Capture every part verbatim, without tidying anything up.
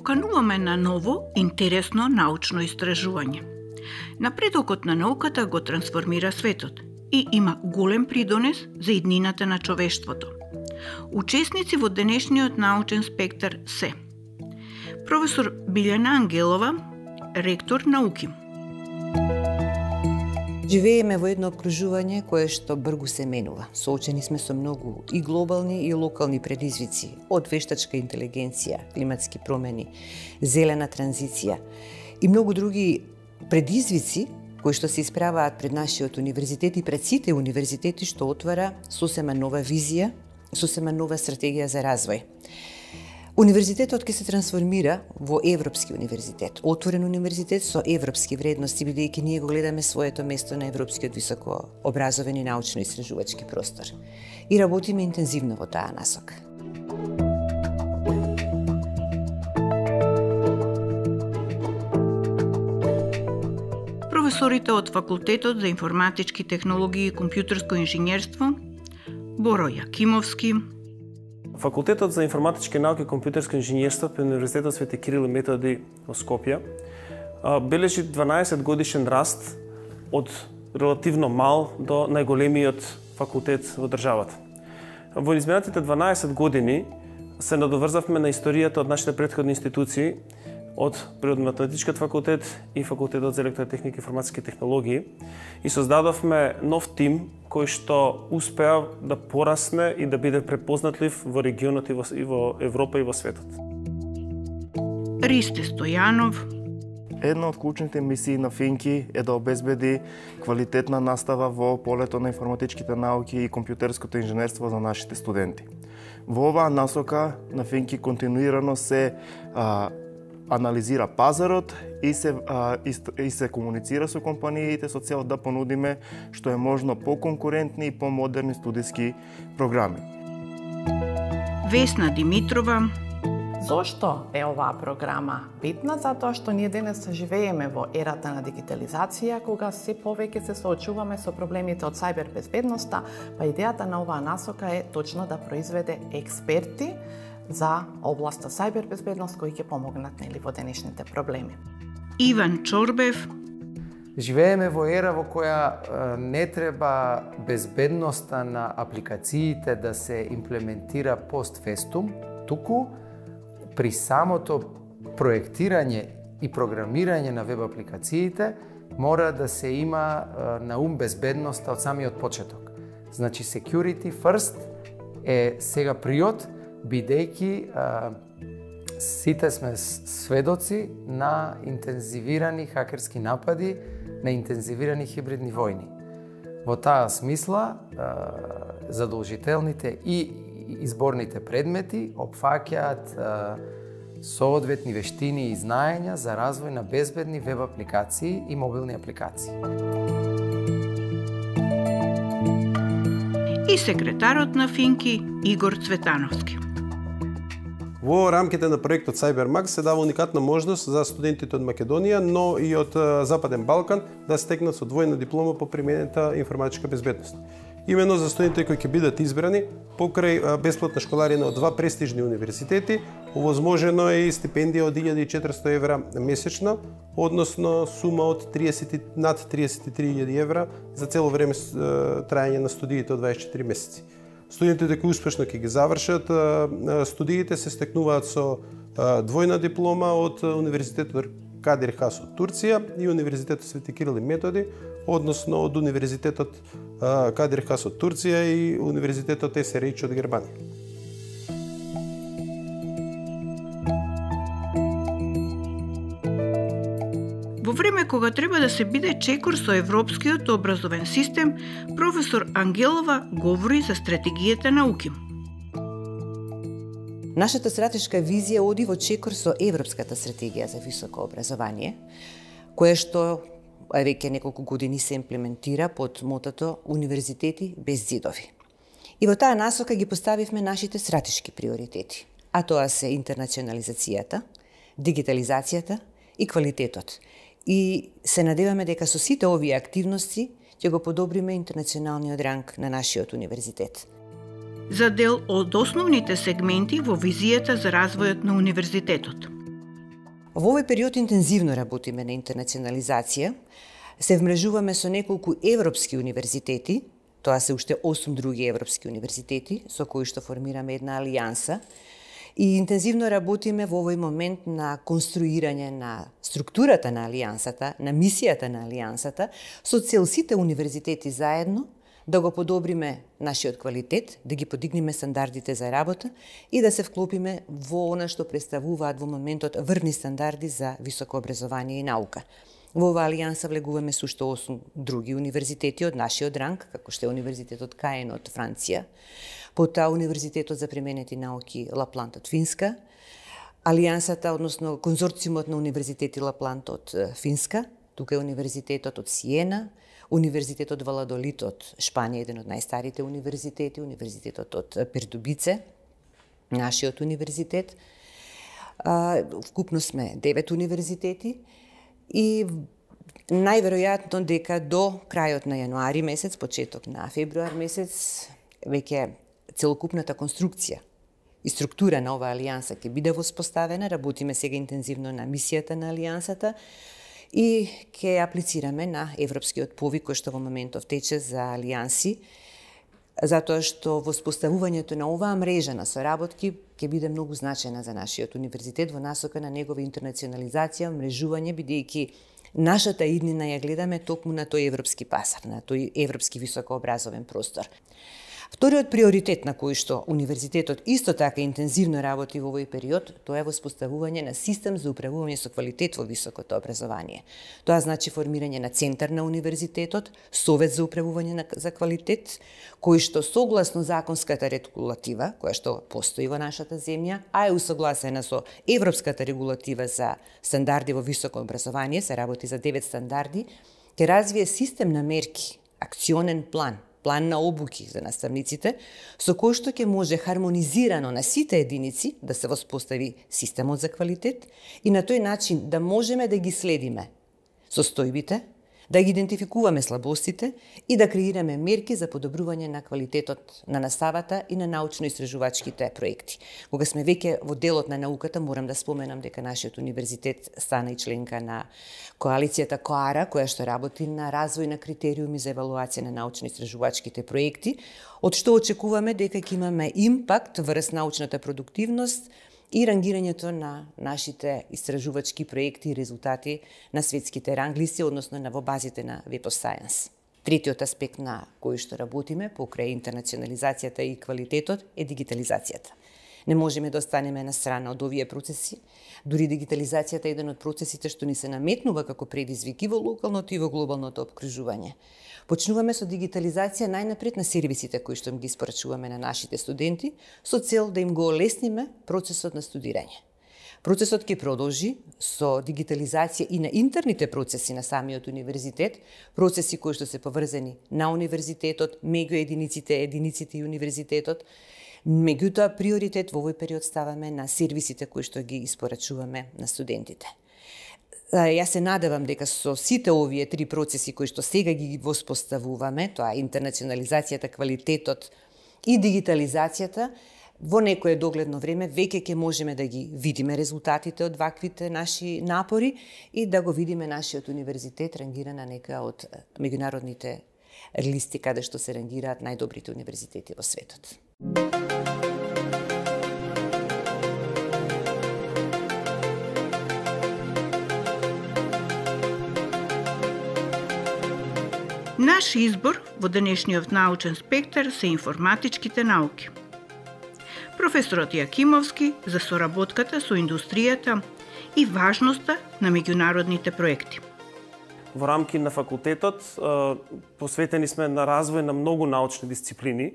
покануваме на ново, интересно научно истражување. Напредокот на науката го трансформира светот и има голем придонес за иднината на човештвото. Учесници во денешниот научен спектар се професор Билјана Ангелова, ректор на УКИМ. Живееме во едно окружување кое што бргу се менува. Соочени сме со многу и глобални и локални предизвици, од вештачка интелигенција, климатски промени, зелена транзиција и многу други предизвици кои што се исправаат пред нашиот универзитет и пред сите универзитети, што отвара сосема нова визија, сосема нова стратегија за развој. Универзитетот ќе се трансформира во Европски универзитет, отворен универзитет со европски вредности, бидејќи ние го гледаме своето место на европскиот високо образовен и научно-истражувачки простор. И работиме интензивно во таа насока. Професорите од Факултетот за информатички технологии и компјутерско инженерство, Боро Јакимовски, Факултетот за информатички науки и компјутерско инженерство при Универзитетот Свети Кирил и Методи во Скопје бележи дванаесет годишен раст од релативно мал до најголемиот факултет во државата. Во изминатите дванаесет години се надоврзавме на историјата од нашите претходни институции, од Природно-математичкиот факултет и Факултетот за електротехника и информатички технологии и создадовме нов тим кој што успеа да порасне и да биде препознатлив во регионот и во, и во Европа и во светот. Ристе Стојанов. Една од клучните мисии на Финки е да обезбеди квалитетна настава во полето на информатичките науки и компјутерското инженерство за нашите студенти. Во оваа насока на Финки континуирано се а, анализира пазарот и се, а, и, и се комуницира со компаниите со цел да понудиме што е можно поконкурентни и помодерни студиски програми. Весна Димитрова. Зошто е оваа програма битна? Затоа што ние денес живееме во ерата на дигитализација, кога се повеќе се соочуваме со проблемите од сајбер безбедноста, па идејата на оваа насока е точно да произведе експерти за областа сајбер безбедност кои ќе помогнат нели во денешните проблеми. Иван Чорбев. Живееме во ера во која не треба безбедноста на апликациите да се имплементира постфестум, туку при самото проектирање и програмирање на веб апликациите мора да се има на ум безбедноста од самиот почеток. Значи security first е сега приот, бидејќи сите сме сведоци на интензивирани хакерски напади, на интензивирани хибридни војни. Во таа смисла, задолжителните и изборните предмети опфаќаат соодветни вештини и знаења за развој на безбедни веб апликации и мобилни апликации. И секретарот на Финки Игор Цветановски. Во рамките на проектот CyberMax се дава уникатна можност за студентите од Македонија, но и од Западен Балкан да стекнат со двојна диплома по применета информатичка безбедност. Имено за студентите кои ќе бидат избрани покрај бесплатна школарина од два престижни универзитети, овозможено е и стипендија од илјада и четиристотини евра месечно, односно сума од триесет над триесет и три илјади евра за цело време трајање на студиите од дваесет и четири месеци. Студентите кои успешно ќе ги завршат студиите се стекнуваат со двојна диплома од Универзитетот Кадир Хас од Турција и Универзитетот Свети Кирил и Методи, односно од Универзитетот Кадир Хас од Турција и Универзитетот Ес Ер Еич од Германија. Во време кога треба да се биде чекор со европскиот образовен систем, професор Ангелова говори за стратегијата на УКИМ. Нашата стратешка визија оди во чекор со Европската стратегија за високо образование, која што веќе неколку години се имплементира под мотото Универзитети без зидови. И во таа насока ги поставивме нашите стратешки приоритети, а тоа се интернационализацијата, дигитализацијата и квалитетот. И се надеваме дека со сите овие активности ќе го подобриме интернационалниот ранг на нашиот универзитет. За дел од основните сегменти во визијата за развојот на универзитетот. Во овој период интензивно работиме на интернационализација, се вмрежуваме со неколку европски универзитети, тоа се уште осум други европски универзитети, со кои што формираме една алијанса, и интензивно работиме во овој момент на конструирање на структурата на алијансата, на мисијата на алијансата, со цел сите универзитети заедно да го подобриме нашиот квалитет, да ги подигнеме стандардите за работа и да се вклопиме во она што представуваат во моментот врвни стандарди за високо образование и наука. Во оваа алијанса влегуваме со уште осум други универзитети од нашиот ранг, како што е Универзитетот Каен од Франција, потоа Универзитетот за применети науки Лапланд од Финска, алијансата, односно конзорциумот на Универзитети Лапланд од Финска, тука е Универзитетот од Сиена, Универзитетот Валадолид од Шпанија, еден од најстарите универзитети, Универзитетот од Пердубице, нашиот универзитет. Вкупно сме девет универзитети и најверојатно дека до крајот на јануари месец, почеток на февруар месец, веќе целокупната конструкција и структура на оваа алијанса ќе биде воспоставена. Работиме сега интензивно на мисијата на алијансата и ќе аплицираме на европскиот повик кој што во моментов тече за алијанси, затоа што воспоставувањето на оваа мрежа на соработки ќе биде многу значајна за нашиот универзитет во насока на негова интернационализација, мрежување, бидејќи нашата иднина ја гледаме токму на тој европски пазар, на тој европски високообразовен простор. Вториот приоритет на кој што универзитетот исто така интензивно работи во овој период, тоа е воспоставување на систем за управување со квалитет во високото образование. Тоа значи формирање на центар на универзитетот, совет за управување на, за квалитет, кој што согласно законската регулатива, која што постои во нашата земја, а е усогласена со европската регулатива за стандарди во високо образование, се работи за девет стандарди, ќе развие систем на мерки, акционен план, план на обуки за наставниците, со кој што ќе може хармонизирано на сите единици да се воспостави системот за квалитет и на тој начин да можеме да ги следиме состојбите, да ги идентификуваме слабостите и да креираме мерки за подобрување на квалитетот на наставата и на научно-истражувачките проекти. Кога сме веќе во делот на науката, морам да споменам дека нашиот универзитет стана и членка на коалицијата КОАРА, која што работи на развој на критериуми за евалуација на научно-истражувачките проекти, од што очекуваме дека ќе имаме импакт врз научната продуктивност и рангирањето на нашите истражувачки проекти и резултати на светските ранглисти, односно на во базите на Web of Science. Третиот аспект на кој што работиме покрај интернационализацијата и квалитетот е дигитализацијата. Не можеме да останеме на страна од овие процеси. Дури дигитализацијата е еден од процесите што ни се наметнува како предизвик и во локалното и во глобалното опкружување. Почнуваме со дигитализација најнапред на сервисите кои што им ги испорачуваме на нашите студенти, со цел да им го олесниме процесот на студирање. Процесот ќе продолжи со дигитализација и на интерните процеси на самиот универзитет, процеси кои што се поврзани на универзитетот, меѓу единиците, единиците и универзитетот. Меѓутоа, приоритет во овој период ставаме на сервисите кои што ги испорачуваме на студентите. Јас се надевам дека со сите овие три процеси кои што сега ги воспоставуваме, тоа интернационализацијата, квалитетот и дигитализацијата, во некое догледно време веќе ќе можеме да ги видиме резултатите од ваквите наши напори и да го видиме нашиот универзитет рангиран на некоја од меѓународните листи каде што се рангираат најдобрите универзитети во светот. Наш избор во денешниот научен спектар се информатичките науки. Професорот Јакимовски за соработката со индустријата и важноста на меѓународните проекти. Во рамки на факултетот посветени сме на развој на многу научни дисциплини,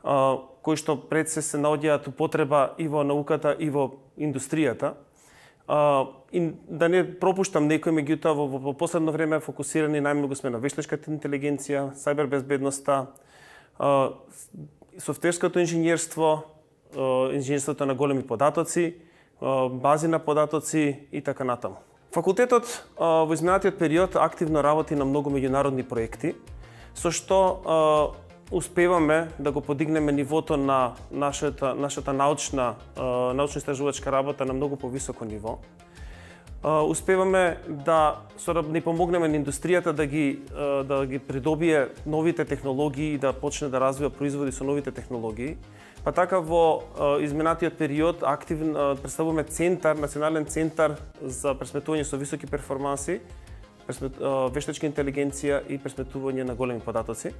кои што пред се се наоѓаат употреба и во науката и во индустријата. И да не пропуштам некој, меѓутоа во, во последно време фокусирани најмногу сме на вештачката интелигенција, сајбербезбедноста, софтверското инженерство, инженерството на големи податоци, бази на податоци и така натаму. Факултетот во изминатиот период активно работи на многу меѓународни проекти, со што успеваме да го подигнеме нивото на нашата, нашата научна, научно-истражувачка работа на многу повисоко ниво. успеваме да не помогнеме на индустријата да ги да ги придобие новите технологии и да почне да развива производи со новите технологии. Па така во изминатиот период активно представуваме центар, национален центар за пресметување со високи перформанси, вештачка интелигенција и пресметување на големи податоци,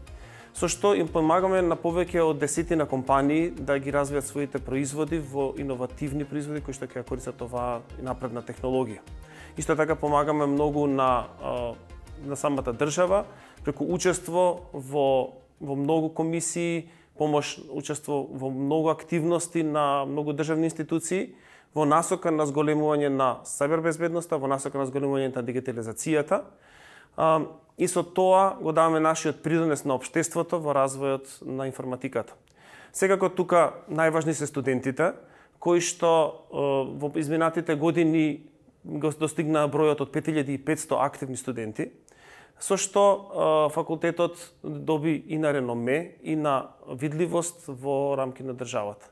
со што им помагаме на повеќе од десетина компании да ги развијат своите производи во иновативни производи кои што ќе користат оваа напредна технологија. Исто така помагаме многу на на самата држава преку учество во во многу комисии, помош, учество во многу активности на многу државни институции во насока на зголемување на сајбербезбедноста, во насока на зголемување на дигитализацијата. И со тоа го даваме нашиот придонес на општеството во развојот на информатиката. Секако тука најважни се студентите, кои што во изминатите години го достигнаа бројот од пет илјади и петсто активни студенти, со што факултетот доби и на реноме и на видливост во рамки на државата.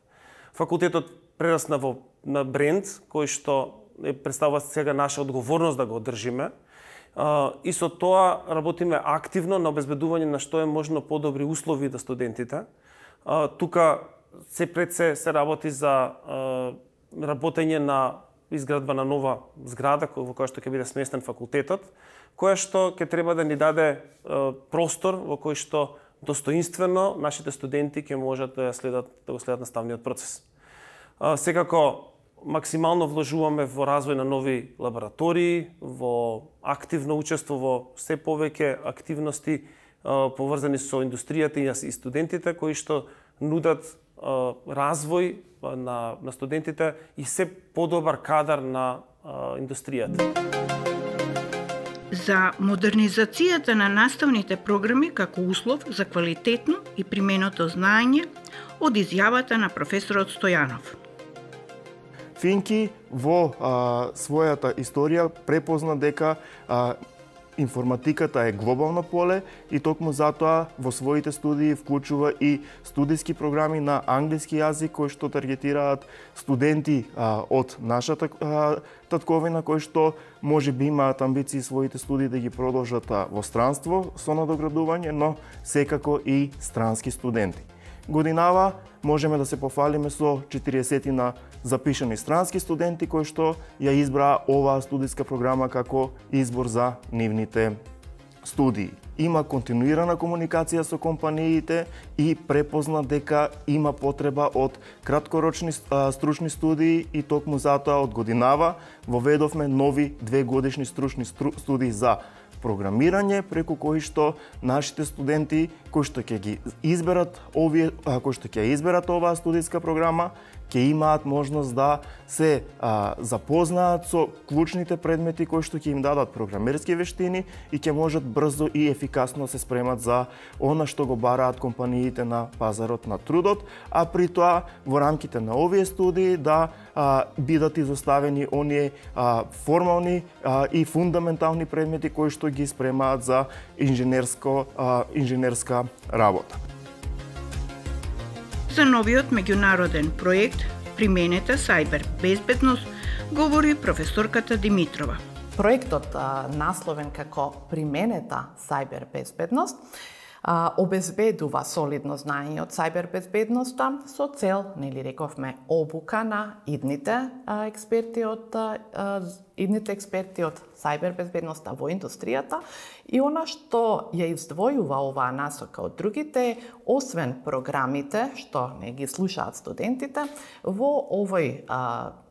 Факултетот прерасна во на бренд кој што представува сега наша одговорност да го одржиме. И со тоа работиме активно на обезбедување на што е можно подобри услови за студентите. Тука се пред се се работи за работење на изградба на нова зграда во која што ќе биде сместен факултетот, која што ќе треба да ни даде простор во кој што достоинствено нашите студенти ќе можат да следат да го следат наставниот процес. Секако максимално вложуваме во развој на нови лаборатории, во активно учество во се повеќе активности поврзани со индустријата и студентите кои што нудат развој на, на студентите и се подобар кадар на индустријата. За модернизацијата на наставните програми како услов за квалитетно и применото знаење од изјавата на професорот Стојанов. Финки во а, својата историја препозна дека а, информатиката е глобално поле и токму затоа во своите студии вклучува и студиски програми на англиски јазик кои што таргетираат студенти а, од нашата а, татковина кои што можеби имаат амбиции своите студии да ги продолжат а, во странство со надоградување, но секако и странски студенти. Годинава можеме да се пофалиме со четириесетина запишани странски студенти кои што ја избраа оваа студиска програма како избор за нивните студии. Има континуирана комуникација со компаниите и препозна дека има потреба од краткорочни а, стручни студии и токму затоа од годинава воведовме нови две годишни стручни стру, студии за програмирање, преку кои што нашите студенти кои што ќе ги изберат овие кои што ќе изберат оваа студиска програма ќе имаат можност да се а, запознаат со клучните предмети кои што ќе им дадат програмерски вештини и ќе можат брзо и ефикасно се спремат за она што го бараат компаниите на пазарот на трудот, а при тоа во рамките на овие студии да а, бидат изоставени оние а, формални а, и фундаментални предмети кои што ги спремаат за инженерско а, инженерска работа. За новиот меѓународен проект Применета сајбер безбедност говори професорката Димитрова. Проектот насловен како Применета сајбер безбедност обезбедува солидно знаење од сајбербезбедноста со цел, нели рековме, обука на идните експерти од идните експерти од сајбербезбедноста во индустријата и она што ја издвојува оваа насока од другите, освен програмите што не ги слушаат студентите, во овој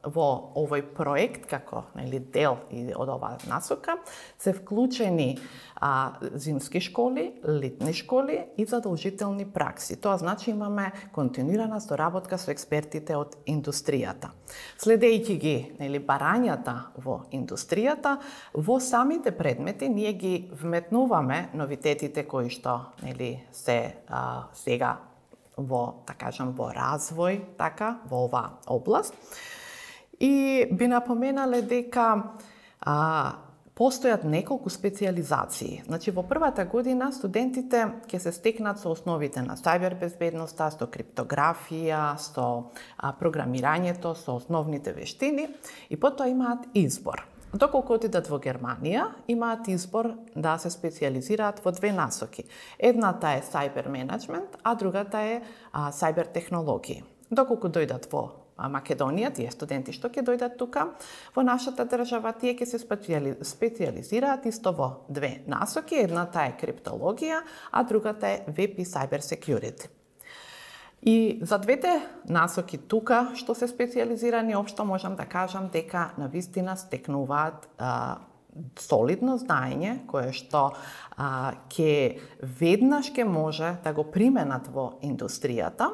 во овој проект како нели дел од оваа насока се вклучени а, зимски школи, летни школи и задолжителни пракси. Тоа значи имаме континуирана соработка со експертите од индустријата. Следејќи ги нели барањата во индустријата, во самите предмети ние ги вметнуваме новитетите кои што нели се а, сега во, така кажам, во развој, така, во оваа област. И би напоменале дека а, постојат неколку специализации. Значи, во првата година студентите ќе се стекнат со основите на сајбербезбедноста, со криптографија, со а, програмирањето, со основните вештини и потоа имаат избор. Доколку отидат во Германија, имаат избор да се специализираат во две насоки. Едната е cyber management, а другата е а, cyber технологии. Доколку дојдат во Македонија, тие студенти што ќе дојдат тука во нашата држава, тие ќе се специали... специализираат исто во две насоки. Едната е криптологија, а другата е веб и cyber security. И за двете насоки тука, што се специализирани, општо можам да кажам дека навистина стекнуваат а, солидно знаење, кое што а, ке веднаш ке може да го применат во индустријата.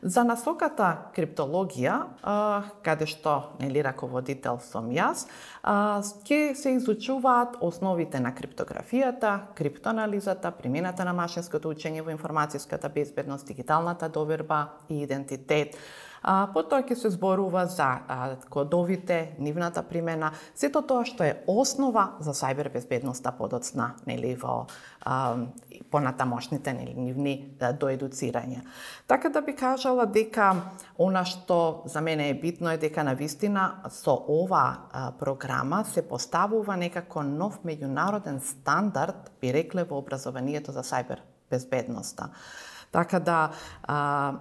За насоката криптологија, а, каде што нели раководител сум јас, а, ке се изучуваат основите на криптографијата, криптоанализата, примената на машинското учење во информацијската безбедност, дигиталната доверба и идентитет. А, потоа ќе се зборува за а, кодовите, нивната примена, сето тоа што е основа за сајбер безбедноста подоцна, нели во а, понатамошните нели нивни да, доедуцирање. Така да би кажала дека она што за мене е битно е дека навистина со ова а, програма се поставува некако нов меѓународен стандард, би рекле, во образованието за сајбер безбедноста. Така да а,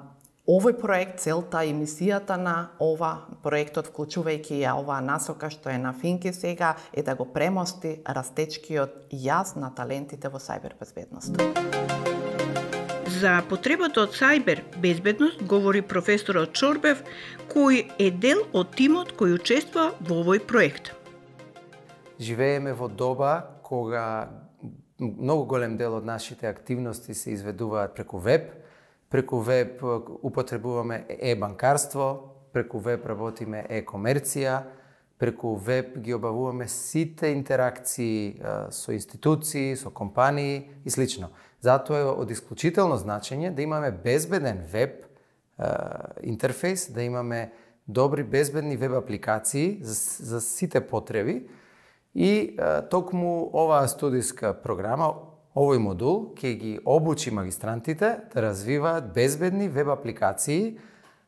овој проект, целта и мисијата на ова проектот, вклучувајќи ја оваа насока што е на Финки сега, е да го премости растечкиот јаз на талентите во сајбер безбедност. За потребата од сајбер безбедност говори професорот Чорбев, кој е дел од тимот кој учествува во овој проект. Живееме во доба кога многу голем дел од нашите активности се изведуваат преку веб. Преку веб употребуваме е-банкарство, преку веб работиме е-комерција, преку веб ги обавуваме сите интеракции со институции, со компании и слично. Затоа е од исклучително значење да имаме безбеден веб интерфейс, да имаме добри безбедни веб апликации за, за сите потреби и токму оваа студиска програма, овој модул ќе ги обучи магистрантите да развиваат безбедни веб апликации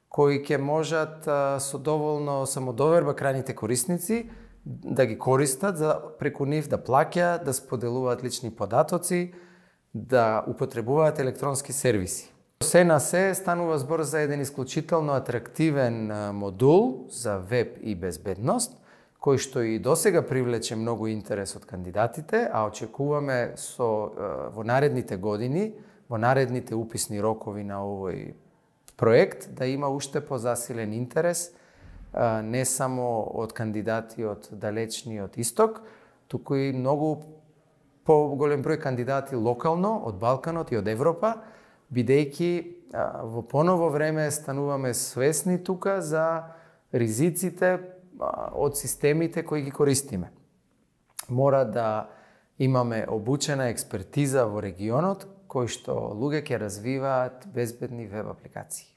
кои ќе можат со доволно самодоверба крајните корисници да ги користат за преку нив да плаќаат, да споделуваат лични податоци, да употребуваат електронски сервиси. Се на се станува збор за еден исклучително атрактивен модул за веб и безбедност, кој што и досега привлече многу интерес од кандидатите, а очекуваме со во наредните години, во наредните уписни рокови на овој проект да има уште позасилен интерес не само од кандидати од далечниот исток, туку и многу поголем број кандидати локално од Балканот и од Европа, бидејќи во поново време стануваме свесни тука за ризиците од системите кои ги користиме. Мора да имаме обучена експертиза во регионот, кои што луѓе ќе развиваат безбедни веб апликации.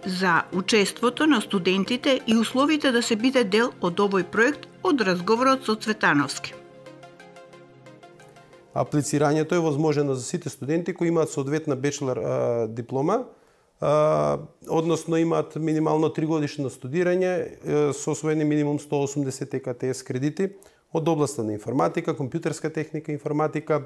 За учеството на студентите и условите да се биде дел од овој проект од разговорот со Цветановски. Аплицирањето е возможено за сите студенти кои имаат соодветна бечелор а, диплома, а, односно имаат минимално три годишно студирање со освоени минимум сто осумдесет Е К Т С кредити од областа на информатика, компјутерска техника, информатика,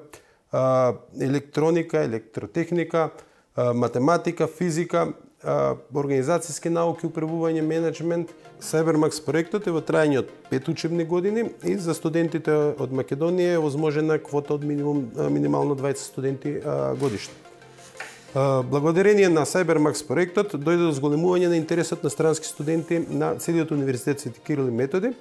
а, електроника, електротехника, а, математика, физика, а, организацијски науки, управување, менеджмент. CyberMax проектот е во трајање од пет учебни години и за студентите од Македонија е возможена квота од минимум, минимално дваесет студенти а, годишно. А, благодарение на CyberMax проектот дојде до зголемување на интересот на странски студенти на целиот универзитет Свети Кирил и Методи,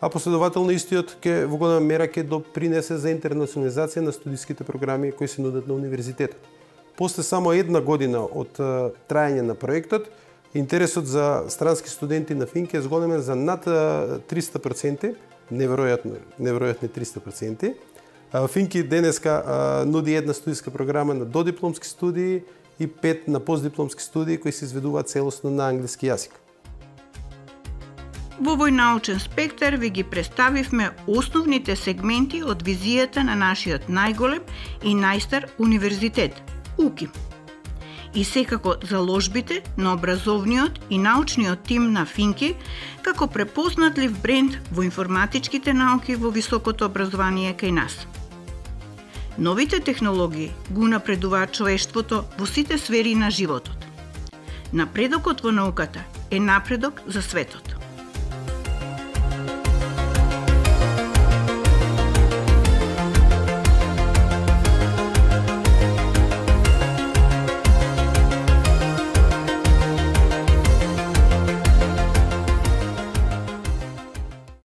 а последователно истиот ќе во голема мера ќе допринесе за интернационализација на студиските програми кои се нудат на универзитетот. После само една година од трајање на проектот, интересот за странски студенти на Финки е зголемен за над триста проценти, неверојатно, неверојатни триста проценти. Финки денеска нуди една студиска програма на додипломски студии и пет на постдипломски студии кои се изведуваат целосно на англиски јазик. Во овој научен спектар ви ги представивме основните сегменти од визијата на нашиот најголем и најстар универзитет, УКИ. и секако заложбите на образовниот и научниот тим на Финки како препознатлив бренд во информатичките науки во високото образование кај нас. Новите технологии го напредуваат човештвото во сите сфери на животот. Напредокот во науката е напредок за светот.